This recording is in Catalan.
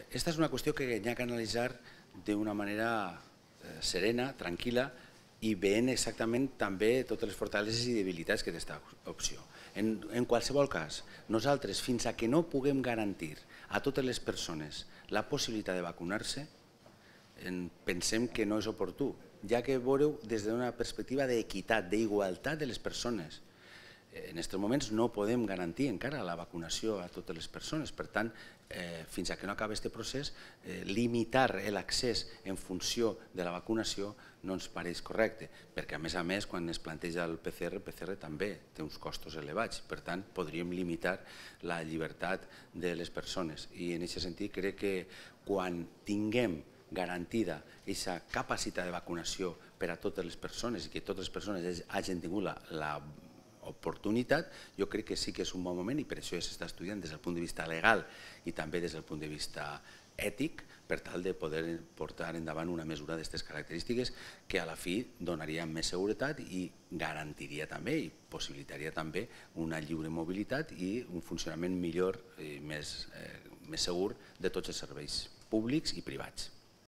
Aquesta és una qüestió que hi ha que analitzar d'una manera serena, tranquil·la, i veient exactament també totes les fortaleses i debilitats que té aquesta opció. En qualsevol cas, nosaltres, fins a que no puguem garantir a totes les persones la possibilitat de vacunar-se, pensem que no és oportú, ja que veureu des d'una perspectiva d'equitat, d'igualtat de les persones. En aquests moments no podem garantir encara la vacunació a totes les persones. Per tant, fins a que no acabi aquest procés, limitar l'accés en funció de la vacunació no ens pareix correcte, perquè a més, quan es planteja el PCR també té uns costos elevats. Per tant, podríem limitar la llibertat de les persones. I en aquest sentit crec que quan tinguem garantida aquesta capacitat de vacunació per a totes les persones i que totes les persones hagin tingut la oportunitat, jo crec que sí que és un bon moment i per això ja s'està estudiant des del punt de vista legal i també des del punt de vista ètic per tal de poder portar endavant una mesura d'aquestes característiques que a la fi donaria més seguretat i garantiria també i possibilitaria també una lliure mobilitat i un funcionament millor i més segur de tots els serveis públics i privats.